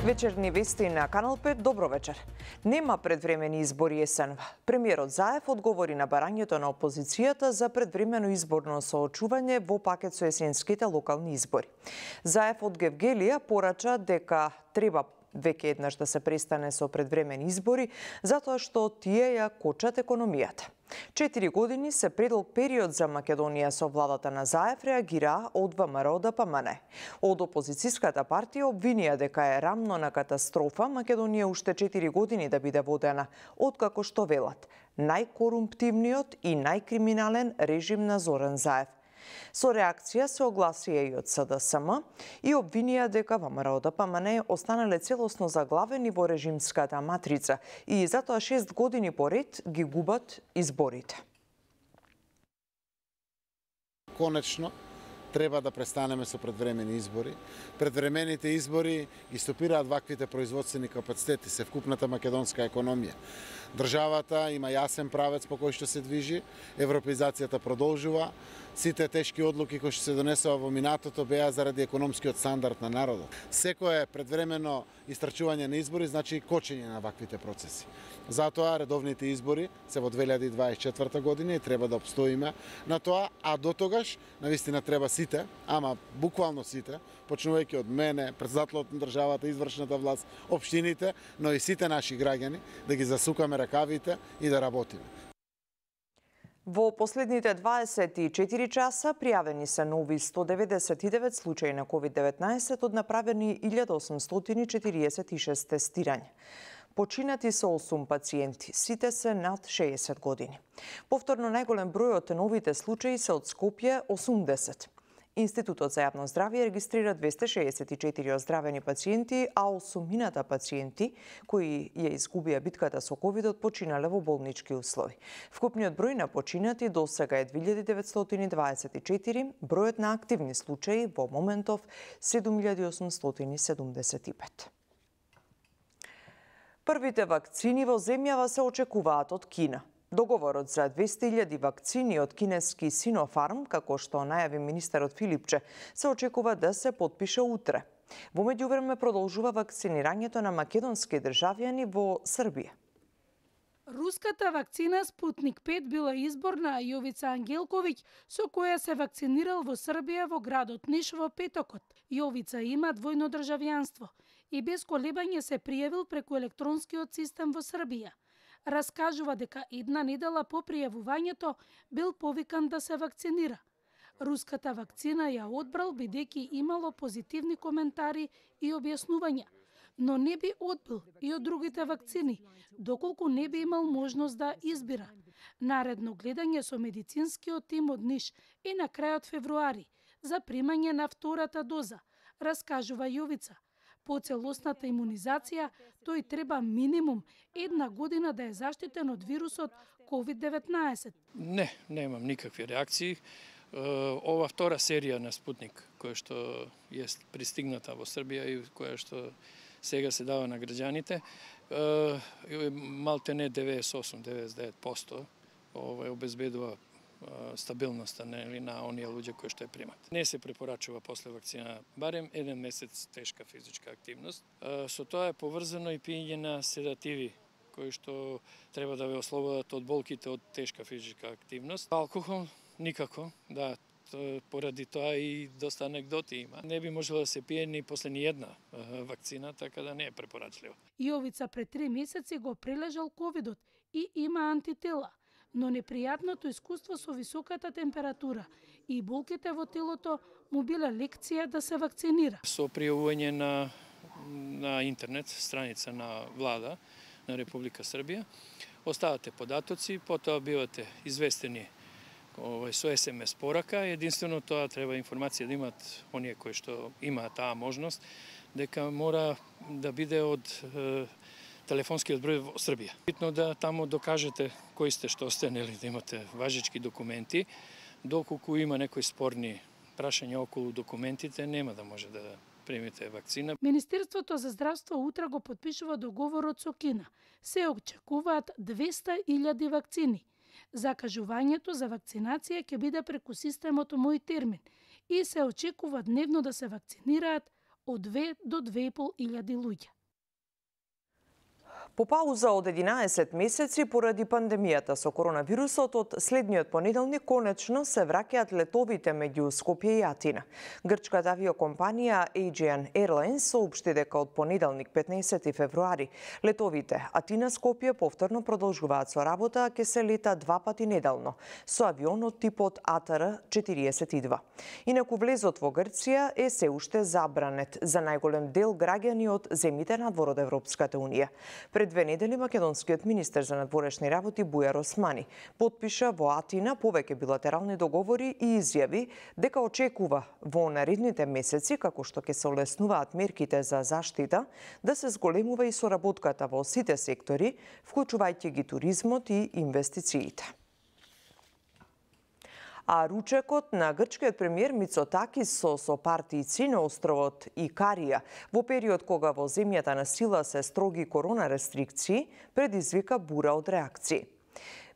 Вечерни вести на Канал 5, добро вечер. Нема предвремени избори есенва. Премиерот Заев одговори на барањето на опозицијата за предвремено изборно соочување во пакет со есенските локални избори. Заев од Гевгелија порача дека треба веќе еднаш да се престане со предвремени избори, затоа што тие ја кочат економијата. 4 години се предолг период за Македонија со владата на Заев, реагира од ВМРО ДПМН. Од опозицијската партија обвинија дека е рамно на катастрофа Македонија уште 4 години да биде водена, откако што велат најкорумптивниот и најкриминален режим на Зоран Заев. Со реакција се огласија и од СДСМ и обвинија дека ВМРО ДПМН останале целосно заглавени во режимската матрица и затоа 6 години поред ги губат изборите. Конечно, треба да престанеме со предвремени избори. Предвремените избори ги стопираат ваквите производствени капацитети се вкупната македонска економија. Државата има јасен правец по кој што се движи, европеизацијата продолжува, сите тешки одлуки кои што се донесува во минатото беа заради економскиот стандард на народот. Секое предвремено истрчување на избори значи кочење на ваквите процеси. Затоа редовните избори се во 2024 година и треба да обстоиме на тоа, а до тогаш навистина треба сите, ама буквално сите, почнувајќи од мене, председателот на државата, извршната власт, општините, но и сите наши граѓани да ги засукаме ракавите и да работиме. Во последните 24 часа пријавени се нови 199 случаи на COVID-19 од направени 1846 тестирања. Починати се 8 пациенти, сите се над 60 години. Повторно најголем број од новите случаи се од Скопје 80. Институтот за јавно здравје регистрира 264 оздравени пациенти, а 8 пациенти кои ја изгубија битката со ковидот починале во болнички услови. Вкупниот број на починати досега е 2924, бројот на активни случаи во моментов 7875. Првите вакцини во земјава се очекуваат од Кина. Договорот за 200.000 вакцини од кинески Синофарм, како што најави министерот Филипче, се очекува да се потпише утре. Во меѓувреме продолжува вакцинирањето на македонски државјани во Србија. Руската вакцина Спутник 5 била избор на Јовица Ангелковиќ, со која се вакцинирал во Србија во градот Ниш во петокот. Јовица има двојно државјанство и без колебање се пријавил преку електронскиот систем во Србија. Раскажува дека една недела по пријавувањето бил повикан да се вакцинира. Руската вакцина ја одбрал бидејќи имало позитивни коментари и објаснувања, но не би одбил и од другите вакцини, доколку не би имал можност да избира. Наредно гледање со медицинскиот тим од Ниш и на крајот февруари за примање на втората доза, раскажува Јовица. По целосната имунизација, тој треба минимум една година да е заштитен од вирусот COVID-19. Не, немам никакви реакции. Ова втора серија на Спутник, која што е пристигната во Србија и која што сега се дава на граѓаните, малте не 98-99% обезбедува стабилноста на оние луѓе кои што ја примат. Не се препорачува после вакцина барем 1 месец тешка физичка активност. Со тоа е поврзано и пиење на седативи кои што треба да ве ослободат од болките од тешка физичка активност. Алкохол никако, да, поради тоа и доста анегдоти има. Не би можело да се пие ни после ни една вакцина, така да не е препорачливо. Јовица пред 3 месеци го прележал ковидот и има антитела, но непријатното искуство со високата температура и болките во телото му биле лекција да се вакцинира. Со пријавување на интернет страница на влада на Република Србија, оставате податоци, потоа бивате известени со СМС порака. Единствено тоа треба информација да имат оние кои што имаат таа можност, дека мора да биде од телефонскиот број во Србија. Битно да таму докажете кои сте, што сте, нели, да имате важички документи. Доколку има некои спорни прашања околу документите, нема да може да примите вакцина. Министерството за здравство утре го потпишува договорот со Кина. Се очекуваат 200.000 вакцини. Закажувањето за вакцинација ќе биде преку системот Мој термин и се очекува дневно да се вакцинираат од 2 до 2.500 луѓе. По пауза од 11 месеци поради пандемијата со коронавирусот, од следниот понеделник конечно се враќаат летовите меѓу Скопје и Атина. Грчката авиокомпанија Aegean Airlines соопшти дека од понеделник 15 февруари летовите Атина-Скопје повторно продолжуваат со работа, ќе се лета 2 пати неделно со авион од типот ATR-42. Инаку влезот во Грција е се уште забранет за најголем дел граѓани од земјите надвор од Европската унија. Пред 2 недели македонскиот министер за надворешни работи Бујар Османи потпиша во Атина повеќе билатерални договори и изјави дека очекува во наредните месеци, како што ќе се олеснуваат мерките за заштита, да се зголемува и соработката во сите сектори, вклучувајќи ги туризмот и инвестициите. А ручекот на грчкиот премиер Мицотакис со партијци на островот Икарија во период кога во земјата на сила се строги корона рестрикции предизвика бура од реакции.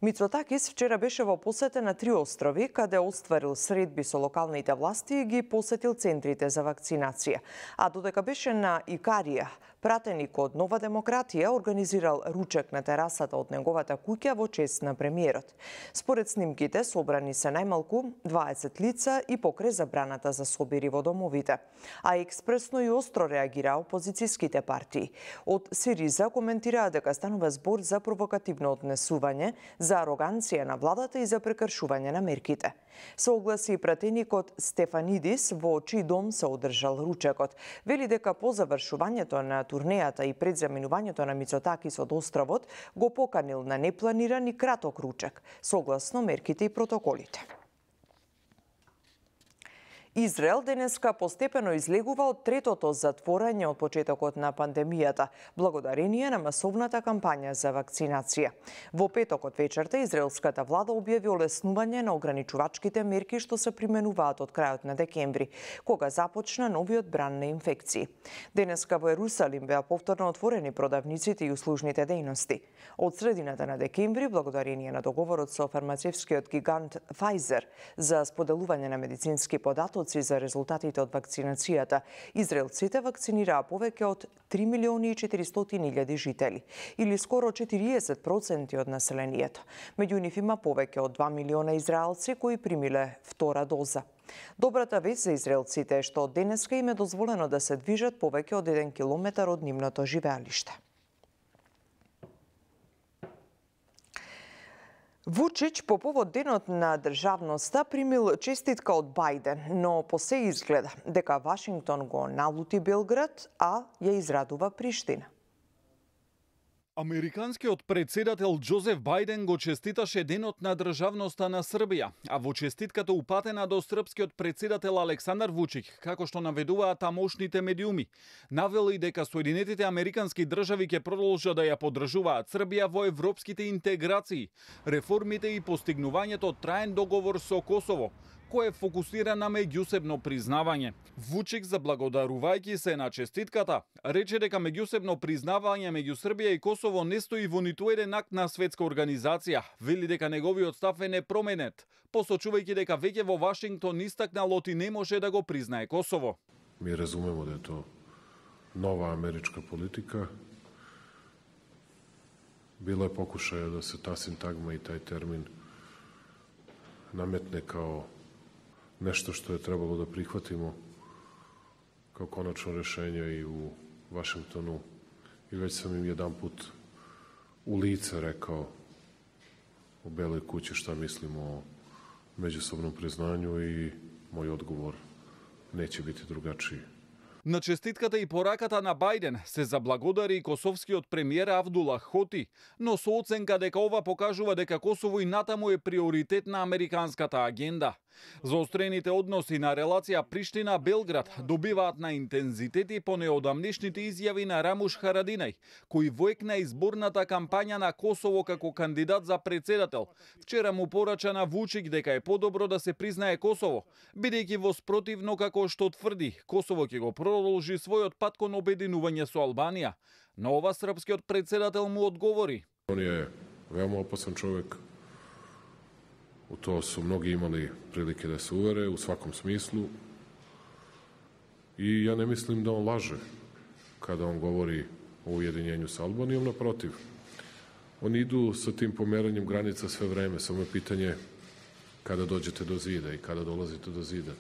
Мицотакис вчера беше во посета на 3 острови, каде остварил средби со локалните власти и ги посетил центрите за вакцинација. А додека беше на Икарија, пратеник од Нова демократија организирал ручек на терасата од неговата куќа во чест на премиерот. Според снимките, собрани се најмалку 20 лица и покрај забраната за собери во домовите. А експресно и остро реагира опозицијските партии. Од Сириза коментираа дека станува збор за провокативно однесување, за ароганција на владата и за прекршување на мерките. Се огласи и пратеникот Стефанидис, во чиј дом се одржал ручекот. Вели дека по завршувањето на турнејата и пред заминувањето на Мицотакис од островот, го поканил на непланиран и краток ручек, согласно мерките и протоколите. Израел денеска постепено излегува од третото затворање од почетокот на пандемијата, благодарение на масовната кампања за вакцинација. Во петокот вечерта израелската влада објави олеснување на ограничувачките мерки што се применуваат од крајот на декември, кога започна новиот бран на инфекции. Денеска во Ерусалим беа повторно отворени продавниците и услужните дејности. Од средината на декември, благодарение на договорот со фармацевскиот гигант Pfizer за споделување на медицински податоци за резултатите од вакцинацијата, израелците вакцинираа повеќе од 3.400.000 жители, или скоро 40% од населението. Меѓу нив има повеќе од 2 милиона израелци кои примиле втора доза. Добрата вест за израелците е што од денеска им е дозволено да се движат повеќе од 1 километар од нивното живеалиште. Вучич по повод денот на државноста примил честитка од Бајден, но по се изгледа дека Вашингтон го налути Белград, а ја израдува Приштина. Американскиот председател Џозеф Бајден го честиташе денот на државноста на Србија, а во честитката упатена до српскиот председател Александар Вучич, како што наведуваат тамошните медиуми, навели дека Соединетите Американски држави ќе продолжат да ја поддржуваат Србија во европските интеграции, реформите и постигнувањето траен договор со Косово, кој е фокусиран на меѓусебно признавање. Вучик, заблагодарувајќи се на честитката, рече дека меѓусебно признавање меѓу Србија и Косово не стои во ниту еден акт на светска организација. Вели дека неговиот став е непроменет, посочувајќи дека веќе во Вашингтон истакнало ти не може да го признае Косово. Ми разумемо да е то нова америчка политика. Било е покушаја да се та синтагма и тај термин наметне као нешто што е требало да прихватимо као конечно решење и у Вашингтону. И веќе сам им еден пут у лице рекао у Белој куќи што мислим о меѓусобном признању и мој одговор неќе бити другачиј. На честитката и пораката на Бајден се заблагодари и косовскиот премиер Авдула Хоти, но со оценка дека ова покажува дека Косово и натаму е приоритет на американската агенда. Заострените односи на релација Приштина-Белград добиваат на интензитети по неодамнешните изјави на Рамуш Харадинај, кој воекна изборната кампања на Косово како кандидат за председател. Вчера му порача на Вучик дека е подобро да се признае Косово, бидејќи во спротивно како што тврди, Косово ќе го продолжи својот пат кон обединување со Албанија. Но ова српскиот председател му одговори. Он е веома опасен човек. У тоа су многи имали прилike да се увере у сваком смислу. И ја не мислим да он лаже када он говори o ujedinjenju sa Albanijom, naprotiv. Oni idu sa tim pomeranjem granica sve vreme, samo je pitanje kada dođete do zida i kada dolazite do zida.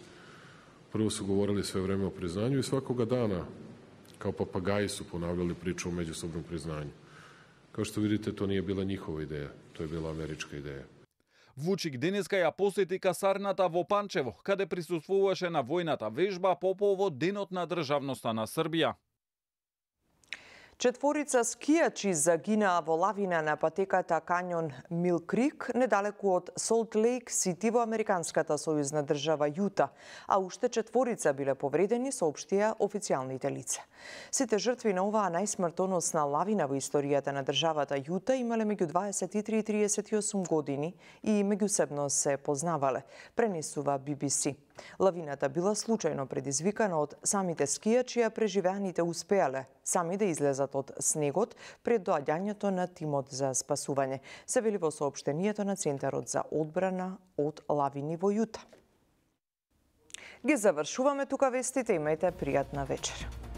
Prvo su govorili sve vreme o priznanju i svakoga dana, kao papagaji, su ponavljali priču o međusobnom priznanju. Kao što vidite, to nije bila njihova ideja, to je bila američka ideja. Вучик денеска ја посети касарната во Панчево, каде присуствуваше на војната вежба по повод Денот на државноста на Србија. Четворица скијачи загинаа во лавина на патеката кањон Мил Крик, недалеку од Солт Лейк Сити во американската сојузна држава Јута, а уште четворица биле повредени, соопштија официјалните лица. Сите жртви на оваа најсмртоносна лавина во историјата на државата Јута имале меѓу 23 и 38 години и меѓусебно се познавале, пренесува BBC. Лавината била случајно предизвикана од самите скијачи, а преживеаните успеале сами да излезат од снегот пред доаѓањето на тимот за спасување, се вели во соопштението на Центарот за одбрана од лавини во Јута. Ги завршуваме тука вестите, имајте пријатна вечер.